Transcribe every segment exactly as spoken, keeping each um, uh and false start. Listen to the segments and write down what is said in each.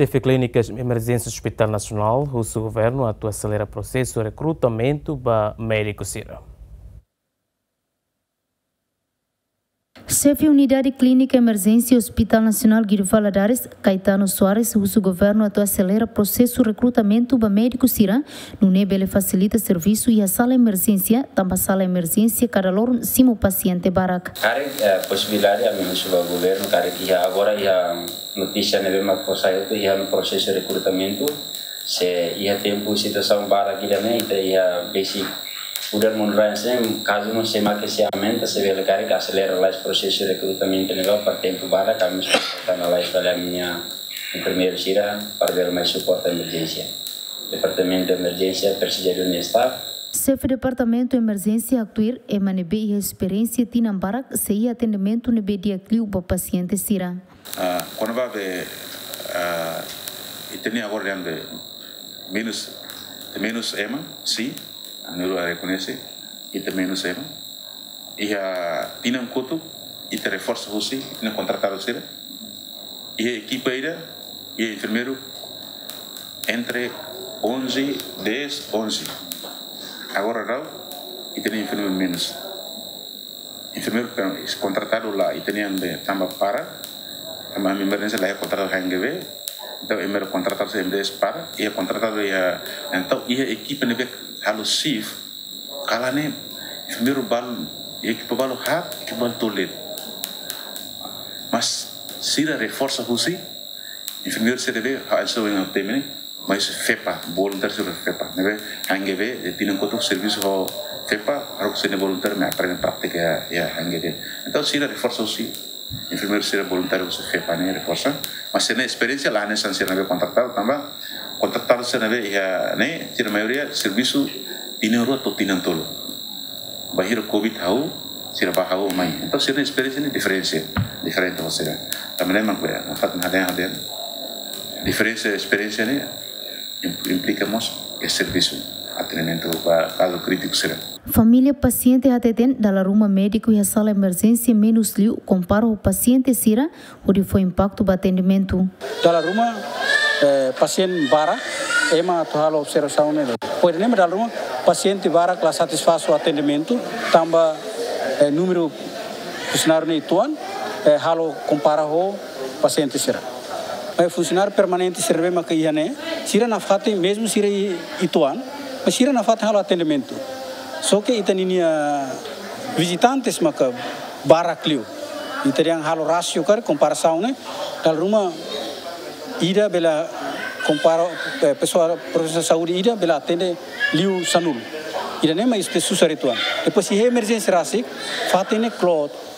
Xefe Klínika Emerjénsia Hospital Nasionál husu governu atu aselera prosesu rekrutamentu ba médiku sira. Xefe Unidade Klínika Emerjénsia Hospital Nasionál Guido Valadares, Caetano Soares, husu governu atu aselera prosesu rekrutamentu ba médiku sira, nune'e bele fasilita servisu iha sala emerjénsia, tanba sala emerjénsia kada loron simu pasiente barak. Karik, eh, posibilidade ami husu ba governu, karik iha agora iha notísia ne'ebé mak fó sai hotu iha prosesu rekrutamentu, se iha tempu situasaun barak ida-ne'e, ita iha besik udan mundu rain se, kazu no se mak se aumenta, se bele karik aselera lai prosesu rekrutamentu ne'ebá para tempu barak, ami suporta na lai fali ami-nia enfermeiru sira, para bele mai suporta emerjénsia. Departamentu Emerjénsia presiza de un staff. Xefe Departamentu Emerjénsia haktuir, ema ne'ebé iha esperiénsia tinan barak sei iha atendimentu ne'ebé di'ak liu ba pasiente sira. Ah, kona-ba be, ah, ita-nia agora dehan be menus, menus ema, sin, ami rekoñese, ita menus ema. Iha tinan kotuk, ita reforsa husi, ita-nia kontratadu sira. Iha ekipa ida, iha enfermeiru, entre onze, dez, onze. Agora daudaun, ita-nia enfermeiru menus. Enfermeiru kontratadu la, ita-nian be tanba para, tanba ami emerjénsia la iha kontratadu H N G V, entaun enfermeiru kontratadu M D S para, iha kontratadu iha, entaun iha ekipa ne'ebé halo shift, kalan ne'e enfermeiru balu, iha ekipa balu haat, ekipa balu tolu de'it. Mas sira reforsa husi, enfermeiru sira be, ha, so yang temene, mas FEPA, voluntáriu sira FEPA. Ne'ebé H N G V, eh, tinan kotuk servisu ho FEPA, haruka sira-nia voluntáriu mai aprende prátika iha, iha H N G V. Entaun sira reforsa husi, enfermeiru sira voluntáriu husi FEPA ne'e reforsa. Mas sira-nia esperiénsia la hanesan sira ne'ebé kontratadu, tanba kontratadu sira ne'ebé iha ne'e, sira maioria servisu tinan rua to'o tinan tolu. Bainhira covid hahú, sira bá hahú mai. Entaun sira-nia esperiénsia ne'e diferente, diferente ho sira. Tanba ne'e mak be, nafatin hadehan, hadehan. Diferensa esperiénsia ne'e im-, implika mós iha servisu, atendimentu ba kazu krítiku sira. Família pasiente hateten dala ruma médiku iha sala emerjénsia menus liu kompara ho pasiente sira, hodi fó impaktu ba atendimentu. Dala ruma, eh, pasiente barak, ema atu halo observasaun ne'e. Pois ne'e dala ruma pasiente barak la satisfás ho atendimentu, tanba, eh, númeru funsionáriu ne'e uitoan, eh, halo kompara ho pasiente sira. Mas funsionáriu permanente sira be maka iha ne'e, sira nafatin, mezmu sira i-, uitoan, mas sira nafatin halo atendimentu. Só ke ita-nia vizitantes maka barak liu. Ita dehan halo rasio karik komparasaun ne'e, dala ruma ida bele kompara, eh, pesoál profisionál saúde ida bele atende liu sanulu. Ida-ne'e mak ita susar uitoan. Depois iha emerjénsia rasik, fatin ne'e kloot.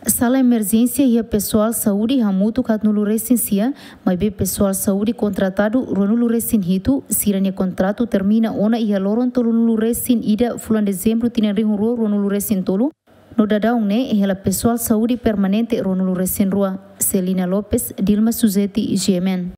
Sala emerjénsia iha pesoál saúde hamutuk haatnulu resin sia, maibé pesoál saúde kontratadu ruanulu resin hitu, sira-nia kontratu termina ona iha loron tolunulu resin ida fulan Dezembru tinan rihun rua ruanulu resin tolu. No daudaun ne'e hela pesoál saúde permanente ruanulu resin rua. Celina Lopes, Dilma Suzeti, G M N.